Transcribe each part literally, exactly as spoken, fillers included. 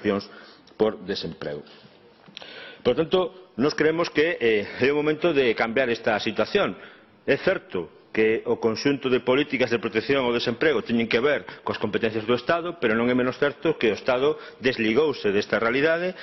prestacións por desemprego. Por tanto, nós creemos que eh, é o momento de cambiar esta situación. É certo que o conxunto de políticas de protección ao desemprego teñen que ver coas competencias do Estado, pero non é menos certo que o Estado desligouse desta realidade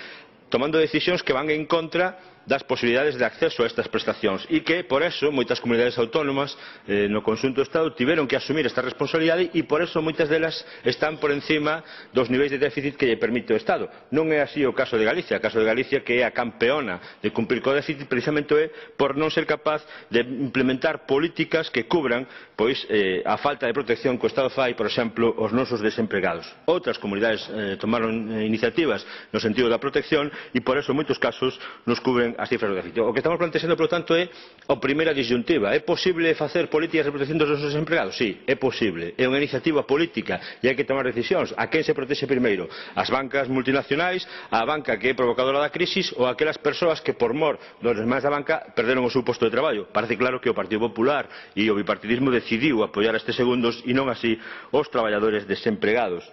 tomando decisións que van en contra das posibilidades de acceso a estas prestacións e que, por eso, moitas comunidades autónomas eh, no conxunto do Estado tiveron que asumir esta responsabilidade e, por eso, moitas delas están por encima dos niveis de déficit que lle permite o Estado. Non é así o caso de Galicia. O caso de Galicia, que é a campeona de cumprir co déficit, precisamente é por non ser capaz de implementar políticas que cubran pois, eh, a falta de protección que o Estado fai, por exemplo, aos nosos desempregados. Outras comunidades eh, tomaron eh, iniciativas no sentido da protección e, por eso, en moitos casos, nos cubren as cifras do déficit. O que estamos plantexando, por lo tanto, é a primeira disyuntiva. É posible facer políticas de protección dos nosos desempregados? Sí, é posible. É unha iniciativa política e hai que tomar decisións. A quen se protexe primeiro? As bancas multinacionais, a banca que é provocadora da crisis ou aquelas persoas que, por mor dos demais da banca, perderon o seu posto de traballo? Parece claro que o Partido Popular e o bipartidismo decidiu apoiar estes segundos e non así os traballadores desempregados.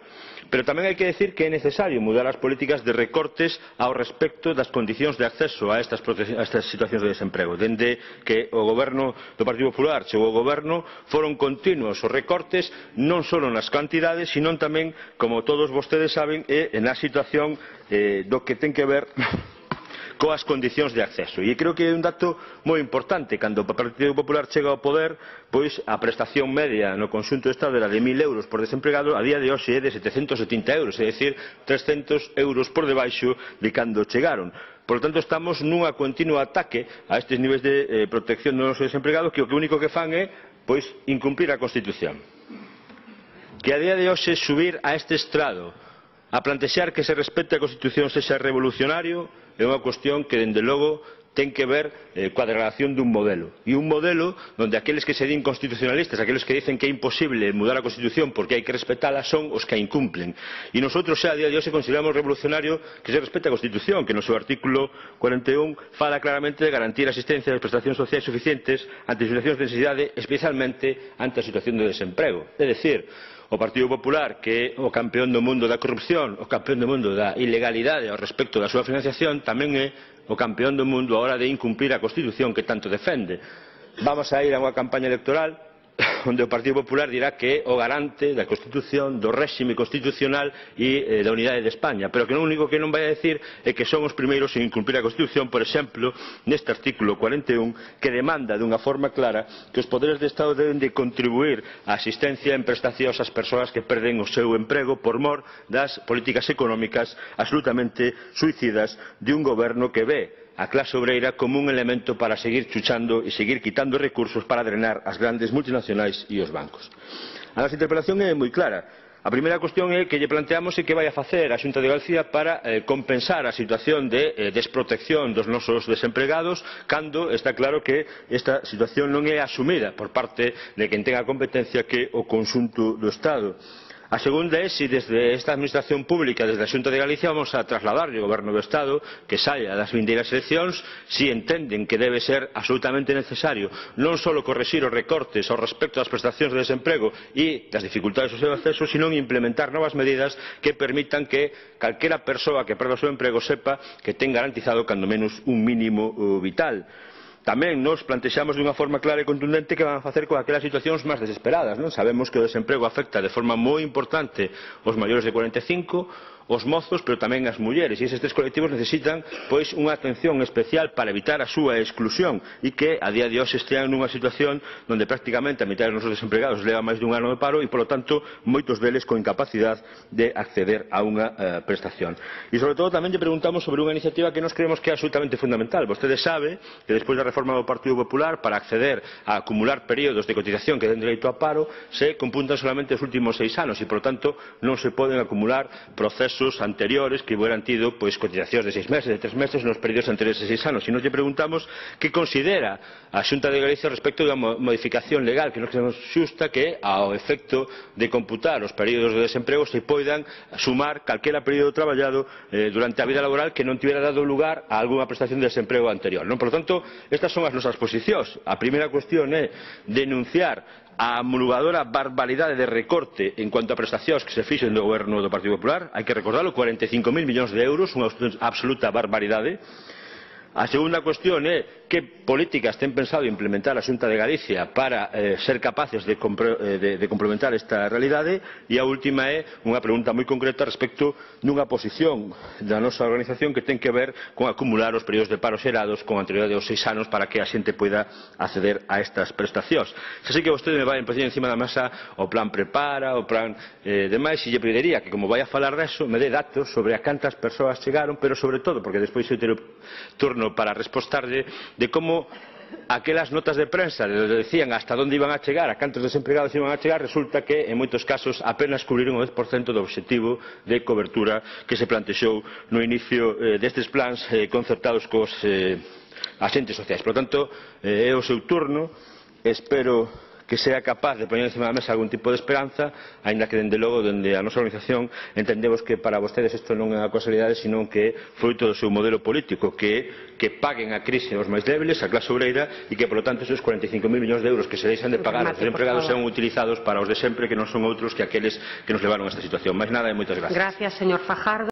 Pero tamén hai que decir que é necesario mudar as políticas de recortes ao respecto das condicións de acceso a estas, a estas situacións de desemprego. Dende que o goberno do Partido Popular chegou ao goberno foron continuos os recortes non só nas cantidades, sino tamén, como todos vostedes saben, é na situación eh, do que ten que ver coas condicións de acceso. E creo que é un dato moi importante. Cando o Partido Popular chega ao poder, pois a prestación media no conxunto do Estado era de mil euros por desempregado, a día de hoxe é de setecentos e setenta euros, é dicir, trescentos euros por debaixo de cando chegaron. Por lo tanto, estamos nunha continua ataque a estes niveis de eh, protección dos nosos desempregados que o único que fan é pois, incumprir a Constitución. Que a día de hoxe subir a este estrado a plantexar que se respete a Constitución sexa revolucionario é unha cuestión que, dende logo, ten que ver eh, coa degradación dun modelo. E un modelo onde aqueles que se din constitucionalistas, aqueles que dicen que é imposible mudar a Constitución porque hai que respetala, son os que a incumplen. E nosotros, xa a día de hoxe, consideramos revolucionario que se respete a Constitución, que no seu artículo cuarenta e un fala claramente de garantir a asistencia e prestacións sociais suficientes ante situacións de necesidade, especialmente ante a situación de desemprego. É dicir, o Partido Popular, que é o campeón do mundo da corrupción, o campeón do mundo da ilegalidade ao respecto da súa financiación, tamén é o campeón do mundo a hora de incumprir a Constitución que tanto defende. Vamos a ir a unha campaña electoral onde o Partido Popular dirá que é o garante da Constitución, do réxime constitucional e eh, da unidade de España, pero que o único que non vai a decir é que son os primeiros en incumprir a Constitución, por exemplo, neste artículo cuarenta e un, que demanda dunha forma clara que os poderes de Estado deben de contribuir á asistencia en prestacións ás persoas que perden o seu emprego por mor das políticas económicas absolutamente suicidas de un goberno que ve a clase obreira como un elemento para seguir chuchando e seguir quitando recursos para drenar as grandes multinacionais e os bancos. A nosa interpelación é moi clara. A primeira cuestión é que lle planteamos é que vai a facer a Xunta de Galicia para eh, compensar a situación de eh, desprotección dos nosos desempregados cando está claro que esta situación non é asumida por parte de quen ten a competencia que o conxunto do Estado. A segunda é se desde esta administración pública, desde a Xunta de Galicia, vamos a trasladarlle ao Goberno do Estado que saia das vindeiras eleccións se entenden que debe ser absolutamente necesario non só corrixir os recortes ao respecto das prestacións de desemprego e das dificultades do seu acceso, sino implementar novas medidas que permitan que calquera persoa que perda o seu emprego sepa que ten garantizado cando menos un mínimo vital. Tamén nos plantexamos dunha forma clara e contundente que van a facer con aquelas situacións máis desesperadas. Non? Sabemos que o desemprego afecta de forma moi importante os maiores de cuarenta e cinco, os mozos, pero tamén as mulleres, e estes colectivos necesitan pois unha atención especial para evitar a súa exclusión e que a día de hoxe estean nunha situación onde prácticamente a mitad dos nosos desempregados leva máis dun ano de paro e, polo tanto, moitos deles con incapacidade de acceder a unha uh, prestación. E, sobre todo, tamén lle preguntamos sobre unha iniciativa que nos creemos que é absolutamente fundamental. Vostede sabe que despois da reforma do Partido Popular, para acceder a acumular períodos de cotización que den dereito a paro, se computan solamente os últimos seis anos e, por tanto, non se poden acumular procesos anteriores que hubieran tido pois, cotizacións de seis meses, de tres meses nos períodos anteriores de seis anos. E nos lle preguntamos que considera a Xunta de Galicia respecto da modificación legal que nos creemos xusta que ao efecto de computar os períodos de desemprego se poidan sumar calquera período traballado eh, durante a vida laboral que non tivera dado lugar a algunha prestación de desemprego anterior. Non? Por lo tanto, estas son as nosas posicións. A primeira cuestión é denunciar a homologadora barbaridade de recorte en cuanto a prestacións que se fixen do goberno do Partido Popular, hai que recordarlo, cuarenta e cinco mil millóns de euros, unha absoluta barbaridade. A segunda cuestión é que políticas ten pensado implementar a Xunta de Galicia para eh, ser capaces de, de, de complementar esta realidade. E a última é unha pregunta moi concreta respecto dunha posición da nosa organización que ten que ver con acumular os períodos de paro xerados con anterioridade aos seis anos para que a xente poida acceder a estas prestacións. Xa sei que vostede me vai a poñer encima da mesa o plan Prepara, o plan eh, demais, e lle pediría que, como vai a falar deso, me dé datos sobre a cantas persoas chegaron, pero sobre todo, porque despois eu terei turno para respostarlle, de como aquelas notas de prensa le decían hasta onde iban a chegar, a cantos desempregados iban a chegar, resulta que en moitos casos apenas cubriron o dez por cento do obxectivo de cobertura que se plantexou no inicio eh, destes plans eh, concertados cos eh, agentes sociais. Por lo tanto, eh, é o seu turno, espero que sea capaz de poñer encima da mesa algún tipo de esperanza, aínda que, dende logo, dende a nosa organización entendemos que para vostedes isto non é unha casualidade, senón que é fruto do seu modelo político, que é que paguen a crise aos máis débiles, a clase obreira, e que, por lo tanto, esos cuarenta e cinco mil millóns de euros que se deixan de pagar aos desempregados sean utilizados para os de sempre, que non son outros que aqueles que nos levaron a esta situación. Máis nada e moitas gracias. Gracias, señor Fajardo.